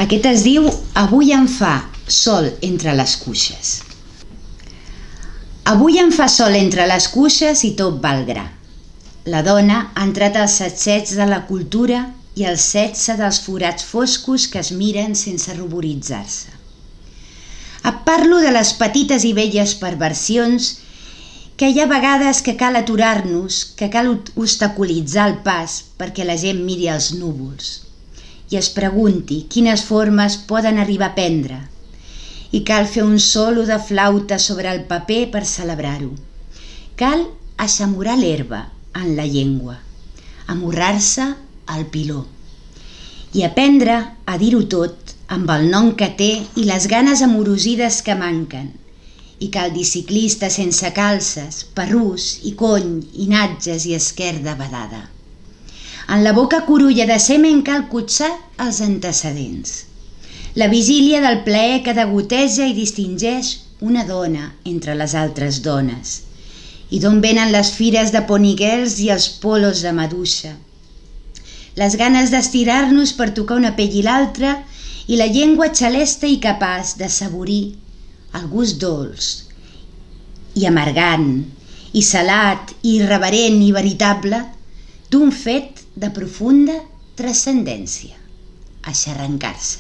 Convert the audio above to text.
Aquest es diu Avui em fa sol entre les cuixes. Avui em fa sol entre les cuixes i tot va al gra. La dona ha entrat als sacsets de la cultura i al sexe dels forats foscos que es miren sense ruboritzar-se. Et parlo de les petites i velles perversions que hi ha vegades que cal aturar-nos, que cal obstaculitzar el pas perquè la gent miri els núvols i es pregunti quines formes poden arribar a prendre. I cal fer un solo de flauta sobre el paper per celebrar-ho. Cal aixamorar l'herba en la llengua, amorrar-se al piló i aprendre a dir-ho tot amb el nom que té i les ganes amorosides que manquen. I cal dir ciclista sense calces, perrús i cony i natges i esquerda badada. En la boca curulla de semen cal cotxar els antecedents. La vigília del plaer que degoteja i distingeix una dona entre les altres dones. I d'on venen les fires de ponygirls i els polos de maduixa. Les ganes d'estirar-nos per tocar una pell i l'altra i la llengua xalesta i capaç de saborir el gust dolç i amargant i salat i irreverent i veritable d'un fet de profunda transcendència, aixarrancar-se.